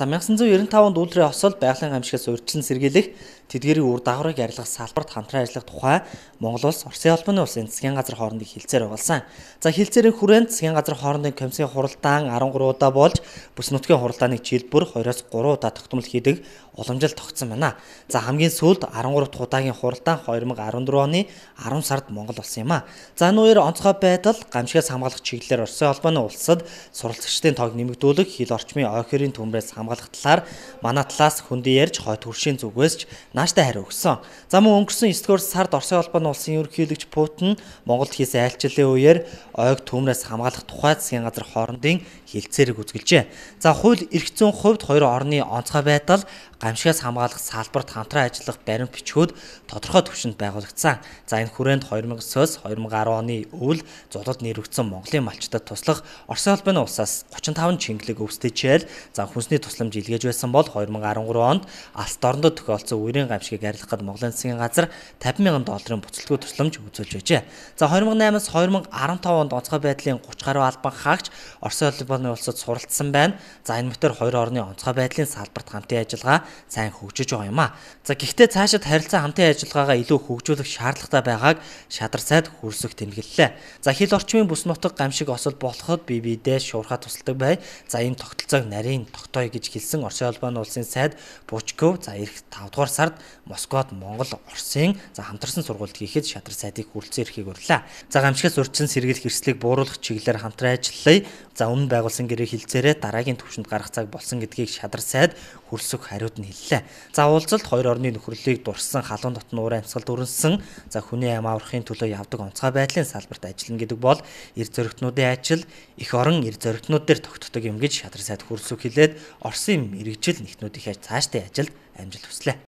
За 1995 онд Үйлрийн осол байгалийн гамшигаас урьдчилан сэргийлэх тэдгэрийн үр дагаврыг арилгах салбарт хамтран ажиллах тухай Монгол улс, Оросын холбооны улсын засгийн газар хоорондын хилцээр байгуулсан. За хилцээрийн хүрээнд засгийн газар хоорондын комиссийн хуралдаан 13 удаа болж бүс нутгийн хуралдааныг жилбэр 2-3 удаа тогтмол хийдэг уламжил тогтсон байна. За хамгийн сүүлд 13 дахь удаагийн хуралдаан 2014 оны 10 сард Монгол улсан юм а. За энэ хоёр онцгой байдал гамшигаас хамгаалах чиглэлээр Оросын холбооны улсад суралцагчдын тоог нэмэгдүүлэх, хил орчмын ой хэрийн төмрөөс хамгаалах талаар манай талаас хүндий ярьж хойд хөршийн зүгээс ч нааштай хариу өгсөн. За мөн өнгөрсөн 9 дугаар сард Оросын холбооны улсын ерөнхийлөгч Путин Монголд хийсэн айлчлалын үеэр ойг төмрөөс хамгаалах тухай засгийн газар хоорондын хилцээрийг үзгэлжээ. За хууль эрх зүйн хувьд хоёр орны онцгой байдал гамшигаас хамгаалах салбарт хамтран ажиллах баримт бичгүүд тодорхой түвшинд байгуулагдсан. За энэ хүрээнд 2009-оос 2010 оны үйл зулууд нэрвэгдсэн Монголын малчдад туслах Оросын холбооны улсаас 35 чингэлэг өвсдөжээл за хүнсний тусламж илгээж байсан бол 2013 онд алс дорндод тохиолдсон үерийн гамшигыг арилгахад Монголын засгийн газар $50,000 буцалтгүй тусламж үзүүлж байжээ. За 2008-аас 2015 онд онцгой байдлын 30 гаруй албан хаагч Оросын холбооны улсад суралцсан байна. За энэ мэтэр хоёр орны онцгой байдлын салбарт хамтын ажиллагаа сайн хөгжиж байгаа юм а. За гэхдээ цаашид харилцаа хамтын ажиллагаагаа илүү хөгжүүлэх шаардлагатай байгааг шадар сайд хүрсэх тэмдэглэлээ. За хил орчмын бүс нутаг гамшиг осол болоход биедээ шуурхаа тусалдаг бай. За энэ тогтолцоог нарийн тогтоё гэж хэлсэн Оросын холбооны улсын сайд Бучков за эх 5 дугаар сард Москвад Монгол Оросын за хамтарсан сургалт хийхэд шадар сайдыг хүрэлцэн эрхийг өрлөө. За гамшигаас урьдчилан сэргийлэх эрсдлийг бууруулах чиглэлээр хамтран ажиллая. За өмнө байгуулсан гэрээ хилцээрээ дараагийн түвшинд гарах цаг болсон гэдгийг шадар сайд хүрсэх хариуд нь хэллээ. За уулзалт хоёр орны нөхөрлөлийг дурсан халуун дотн уурын амьсгал дүрнсэн за хүний амь аврахын төлөө явдаг онцгой байдлын салбарт ажиллана гэдэг бол эрд зоригтнуудын ажил их орон эрд зоригтнууд дээр тогтдог юм гэж шадар сайд хүрсэх хэлээд Оросын мэргэжил нэгтнүүдийнхээ цаашдын ажилд амжилт хүслээ.